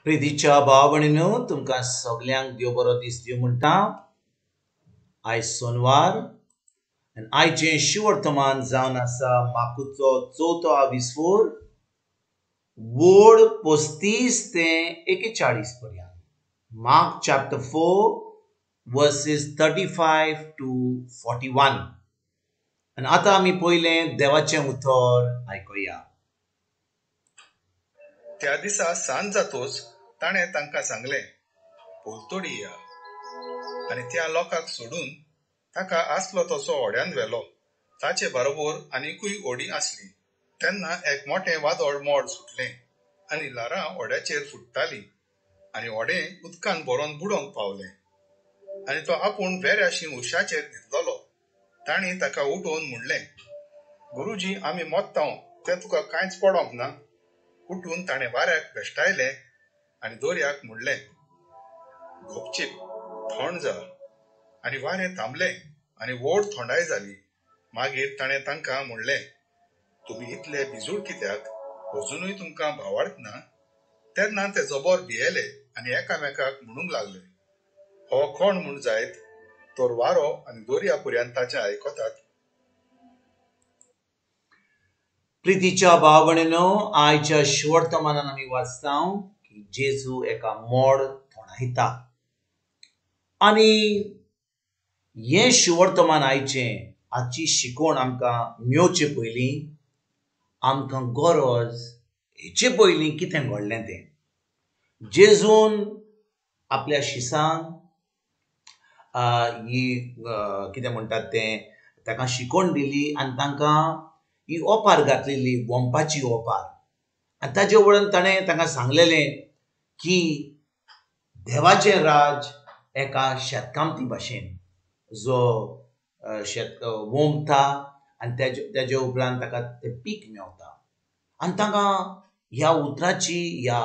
प्रितीच्या भाव भयणीनो, तुमकां सगल्यांक देव बरो दीस दिवं म्हणटा. आयज सोनवार आनी आयचें शिवर्तमान जावन आसा माकुचो चवथो आविस्फोर वोड 35 ते 41 पर्यंत. Mark chapter 4 verses 35 to 41. आनी आतां आमी पयलें देवाचें उतर आयकुया. त्या दिसा सांज जातोच ताणें तांकां सांगलें, पलतडी या. आनी त्या लोकांक सोडून ताका आसलो तसो होड्यान व्हेलो. ताचे बरोबर आनिकूय होडी आसली. तेन्ना एक मोटें वादळ मोड सुटलें आनी ल्हारां होड्याचेर फुट्टालीं आनी होडें उदकान भरोन बुडोवंक पावलें. आनी तो आपूण वेऱ्याशी उशाचेर न्हिदलोलो. तांणी ताका उठोवन म्हणलें, गुरुजी, आमी मोत्तांव तें तुका कांयच पडोंक ना. उठून ताणें वाऱ्याक भेश्टायलें आनी दर्याक म्हणलें, गपचीप थंड जा. आनी वारें थांबलें आनी व्हड थंडाय जाली. मागीर ताणें तांकां म्हणलें, तुमी इतले भिजूड कित्याक? अजुनूय तुमकां भावार्थ ना? तेन्ना ते जबर भियेले आनी एकामेकाक म्हणूंक लागले, हो कोण म्हूण जायत तर वारो आनी दर्या पर्यंत ताचें आयकतात. प्रितीच्या भाव भयणीनो, आयच्या शिवर्तमानान आमी वाचता की जेजू एका मोड थोंडायता. आनी हें शिवर्तमान आयचें हाची शिकवण आमकां मेवचे पयलीं आमकां गरज हेचे पयलीं कितें घडलें तें. जेजून आपल्या शिसांक ही कितें म्हणटात तें ताका शिकवण दिली आनी तांकां ही ओपार घातलेली, वोंपाची ओपार. आनी ताजे उपरांत ताणें तांकां सांगलेलें की देवाचें राज एका शेतकामती भाशेन, जो शेत वोंपता आनी तेजे उपरांत ताका तें पीक मेवता. आनी तांकां ह्या उतराची, ह्या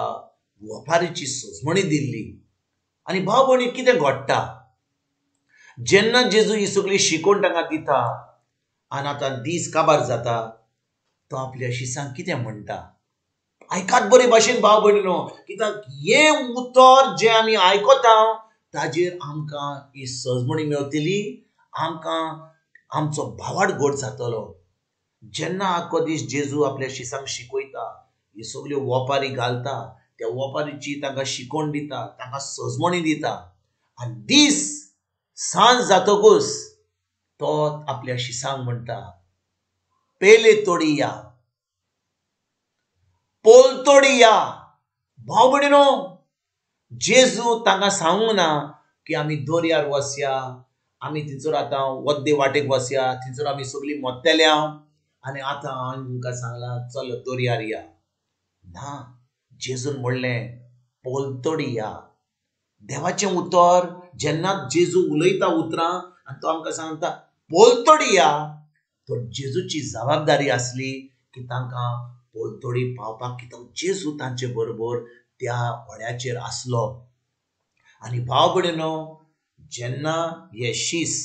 वोपारीची सजमणी दिल्ली. आनी भाव भयणी, कितें घडटा जेन्ना जेजू ही सगळी शिकवण तांकां दिता आनी आतां दीस काबार जाता, तो आपल्या शिसांक कितें म्हणटा? आयकात बरे भाशेन भाव भयणीनो, कित्याक हें उतर जें आमी आयकता ताजेर आमकां ही सजमणी मेवतली, आमकां आमचो भावार्थ घट जातलो. जेन्ना आख्खो दीस जेजू आपल्या शिसांक शिकयता, ही सगल्यो वोपारी घालता, त्या वोपारीची तांकां शिकवण दिता, तांकां सजमणी दिता, आनी दीस सांज जातकूच तो आपल्या शिसांक म्हणटा, पेले तोडी या, पोलतोडी या. भाव भयणीनो, जेजू तांकां सांगूंक ना की आमी दर्यार वसया, आमी थंयसर आतां वद्दे वाटेक वसया, थंयसर आमी सगळीं मोत्तेल्या आनी आतां हांवें तुमकां सांगलां चल दर्यार या. ना, जेजून म्हणलें पोलतोडी या. देवाचें उतर जेन्ना जेजू उलयता उतरां आनी तो आमकां सांगता पोलतोडी या, तर जेजूची जबाबदारी आसली की तांकां पोलतोडी पावपाक, कित्याक जेजू तांचे बरोबर त्या होड्याचेर आसलो. आनी भाव भयणीनो, जेन्ना हे शीस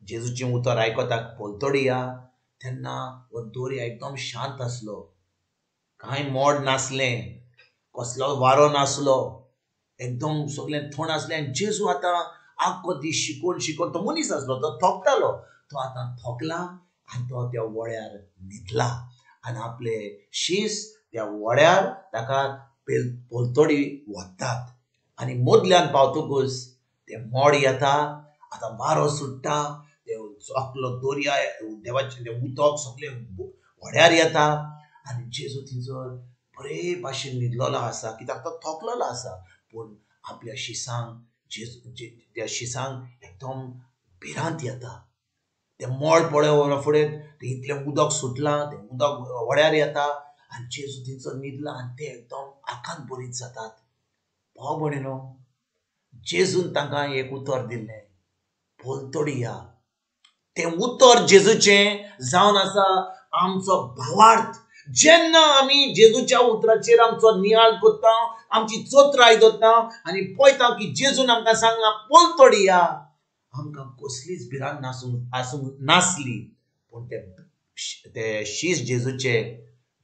जेजूचें उतर आयकता पोलतोडी या, तेन्ना हो दर्या एकदम शांत आसलो, कांय मोड नासलें, कसलो वारो नासलो, एकदम सगळें थंड आसलें. आनी जेजू आतां आख्खो दीस शिकोवन शिकोवन तो मनीस आसलो, तो थोकतालो, तो आतां थोकला आनी तो त्या वळ्यार न्हिदला आनी आपले शीस त्या वळ्यार ताका पोलतोडी व्हरतात. आनी मदल्यान पावतकूच तें मोड येता, आतां वारो सुट्टा, तें सगलो दर्या देवाचें तें उदक सगळें व्हड्यार येता आनी जेजू थंयसर बरे भाशेन न्हिदलेलो आसा, कित्याक तो थकलेलो आसा. पूण आपल्या शिसांक जेजू त्या शिसांक एकदम भिरांत येता. तें मोड पळोवना फुडें तें इतलें उदक सुटलां, तें उदक व्हड्यार येता आनी जेजू थंयसर न्हिदला आनी ते एकदम आकांत बरीत जातात. भाव भयणीनो, जेजून तांकां एक उतर दिल्लें, पोलतोडी या. तें उतर जेजूचें जावन आसा आमचो भावार्थ. जेन्ना आमी जेजूच्या उतराचेर आमचो नियाळ करता, आमची चोत्राय दवरता आनी पळयता की जेजून आमकां सांगलां पोलतोडी या, आमकां कसलीच भिरांत आसूंक नासली. पूण ते शीस जेजूचे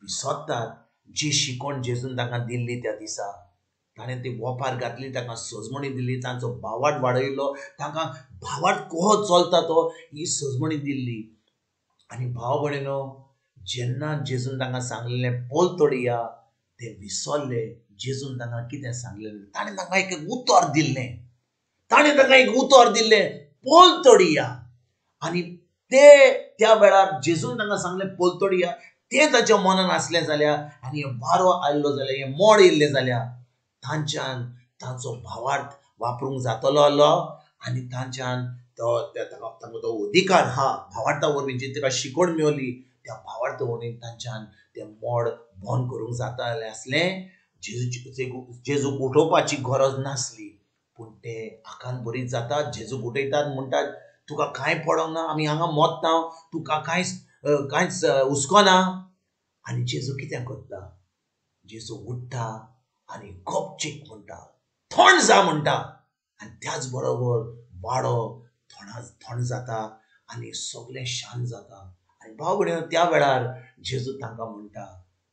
विसरतात जी शिकवण जेजून तांकां दिल्ली त्या दिसा. ताणें ती वोपार घातली, तांकां सजमणी दिली, तांचो भावार्थ वाडयलो, तांकां भावार्थ कसो चलता तो ही सजमणी दिल्ली. आनी भाव भयणीनो, जेन्ना जेजून तांकां सांगलेलें पोलतोडी या, ते विसरले जेजून तांकां कितें सांगलेलें. ताणें तांकां एक उतर दिल्लें, ताणें तांकां एक उतर दिल्लें, पोलतोडी या. आनी ते त्या वेळार जेजून तांकां सांगलें पोलतोडी या, तें ताच्या मनान आसलें जाल्यार आनी हें वारो आयलो जाल्यार, हें मोड येयल्लें जाल्यार तांच्यान तांचो भावार्थ वापरूंक जातलो आसलो आनी तांच्यान तो तांकां तो अधिकार आहा भावार्था वरवीं जी ताका शिकवण मेवली त्या भावार्था वरवीं तांच्यान तें मोड बंद करूंक जातालें आसलें. जेजूक उठोवपाची गरज नासली, पूण ते आकांत बरीच जातात. जेजूक उठयतात, म्हणटात तुका कांय पडोंक ना, आमी हांगा मोत्ता, तुका कांयच कांयच हुस्को ना. आनी जेजू कितें करता, जेजू उठ्ठा आनी गपचीक म्हणटा, थंड जा म्हणटा. आनी त्याच बरोबर वाडो थंड जाता आनी सगळें शांत जाता. आनी भाव भयणीनो, त्या वेळार जेजू तांकां म्हणटा,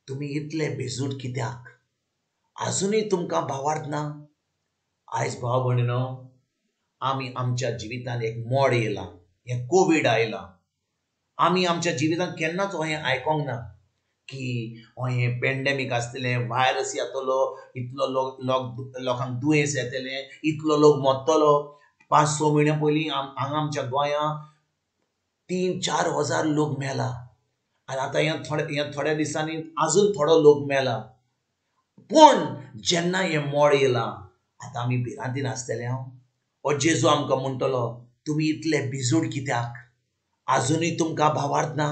तुमी इतले बेजूट कित्याक, आजुनूय तुमकां भावार्थ ना? आयज भाव भयणीनो, आमी आमच्या जिवितांत एक मोड येयलां, हें कोवीड आयलां. आमी आमच्या जिवितांत केन्नाच हें आयकोंक ना की हें पेंडेमीक आसतलें, व्हायरस येतलो, इतलो लोक लोकांक दुयेंस येतलें, इतलो लोक मरतलो. 5-6 म्हयन्या पयलीं हांगा आमच्या गोंयांत 3-4 हजार लोक मेला आनी आतां ह्या थोड्या दिसांनी आजून थोडो लोक मेला. पूण जेन्ना हें मोड येयलां आतां आमी भिरांतीन आसतले. हांव हो जेजू आमकां म्हणटलो, तुमी इतले भिजूड कित्याक, आजुनूय तुमकां भावार्थ ना?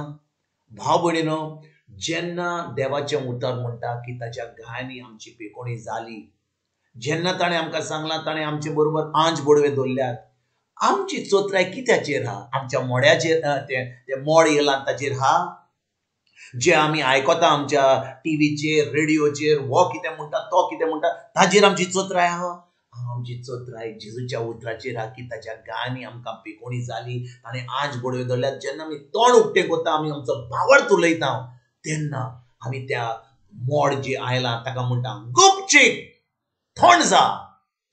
भाव भयणीनो, जेन्ना देवाचें उतर म्हणटा की ताच्या घायांनी आमची पेकोणी जाली, जेन्ना ताणें आमकां सांगलां, ताणें आमचे बरोबर आंज बडवे दवरल्यात, आमची चोत्राय कित्याचेर आहा? आमच्या मोड्याचेर, तें मोड येयलां ताचेर आहा? जे आमी आयकता आमच्या टिवीचेर, रेडियोचेर, हो कितें म्हणटा, तो कितें म्हणटा, ताचेर आमची चोत्राय आहा? आमची चोत्राय जेजूच्या उतराचेर आहा की ताच्या गायांनी आमकां पेकोणी जाली, ताणें आंज बडवे दवरल्यात. जेन्ना आमी तोंड उक्तें करता, आमी आमचो भावार्थ उलयता, तेन्ना आमी त्या मोड जे आयलां ताका म्हणटा, गुपचीक थंड जा,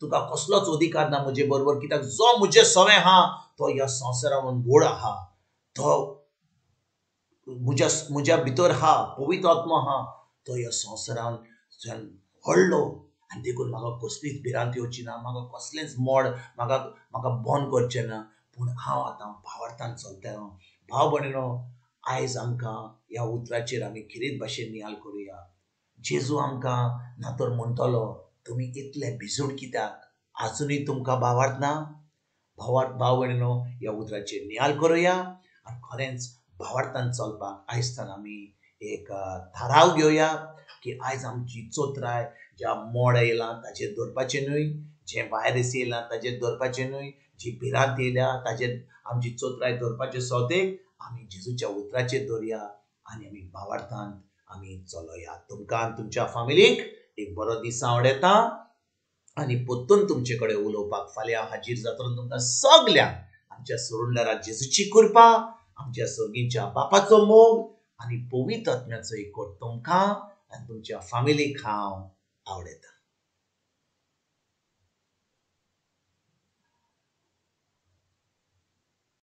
तुका कसलोच अधिकार ना म्हजे बरोबर, कित्याक जो म्हजे सवें आहा तो ह्या संवसारान व्हड आहा, तो म्हज्या भितर आहा, पवित्र आत्मो आहा, तो ह्या संवसारान व्हडलो. आनी देखून म्हाका कसलीच भिरांत येवची ना, म्हाका कसलेंच मोड म्हाका म्हाका बंद करचें ना, पूण हांव आतां भावार्थान चलतलो. भाव भयणीनो, आयज आमकां ह्या उतराचेर आमी खेरीत भाशेन नियाळ करुया. जेजू आमकां ना तर म्हणटलो, तुमी इतले भिजूड कित्याक, आजुनूय तुमकां भावार्थ ना? भावार्थ भाव भयणीनो, ह्या उतराचेर नियाळ करुया आनी खरेंच भावार्थान चलपाक आयज आमी एक थाराव घेवया की आयज आमची चोत्राय ज्या मोड येयलां ताचेर दवरपाचें न्हय, जें व्हायरस येयलां ताचेर दवरपाचें न्हय, जी भिरांत येयल्या ताचेर आमची चोत्राय दवरपाचे सोदेक आमी जेजूच्या उतराचेर दवरया आनी आमी भावार्थान आमी चलोया. तुमकां आनी तुमच्या फामिलीक एक बरो दीस आवडटा आनी परतून तुमचे कडेन उलोवपाक फाल्यां हाजीर जातलो. तुमकां सगल्यांक आमच्या सोडून जेजूची कृपा, आमच्या सर्गीच्या बापाचो मोग आनी पवित्र आत्म्याचो एकवट तुमकां आनी तुमच्या फामिलीक हांव आवडटा.